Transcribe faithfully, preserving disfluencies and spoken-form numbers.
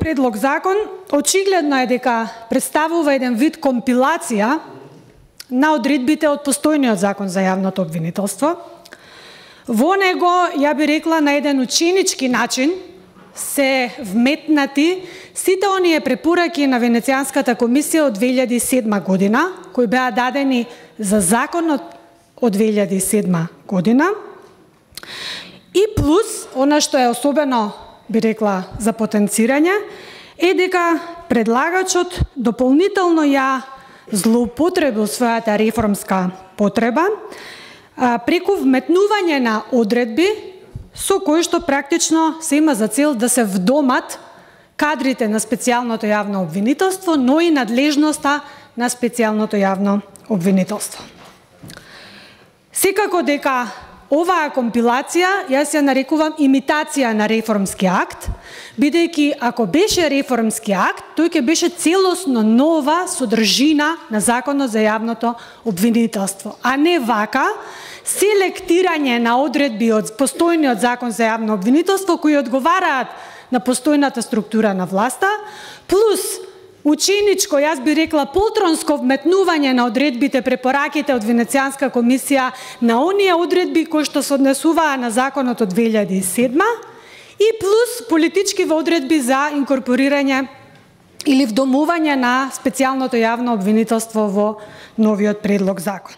предлог закон очигледно е дека представува еден вид компилација на одредбите од постојниот закон за јавното обвинителство. Во него, ја би рекла, на еден ученички начин се вметнати сите оние препораки на Венецијанската комисија од две илјади и седма година, кои беа дадени за законот од две илјади и седма година. И плюс, она што е особено, би рекла, за потенцирање, е дека предлагачот дополнително ја злоупотребил својата реформска потреба преку вметнување на одредби со кои што практично се има за цел да се вдомат кадрите на специјалното јавно обвинителство, но и надлежноста на специјалното јавно обвинителство. Секако дека оваа компилација, јас ја нарекувам имитација на реформски акт, бидејќи ако беше реформски акт, тој ќе беше целосно нова содржина на Законот за јавното обвинителство, а не вака селектирање на одредби од постојниот Закон за јавно обвинителство кои одговараат на постојната структура на власта, плюс ученичко, јас би рекла, полтронско вметнување на одредбите, препораките од Венецијанска комисија на оние одредби кои што се однесуваа на законот од две илјади и седма и плюс политички одредби за инкорпорирање или вдомување на специјалното јавно обвинителство во новиот предлог закон.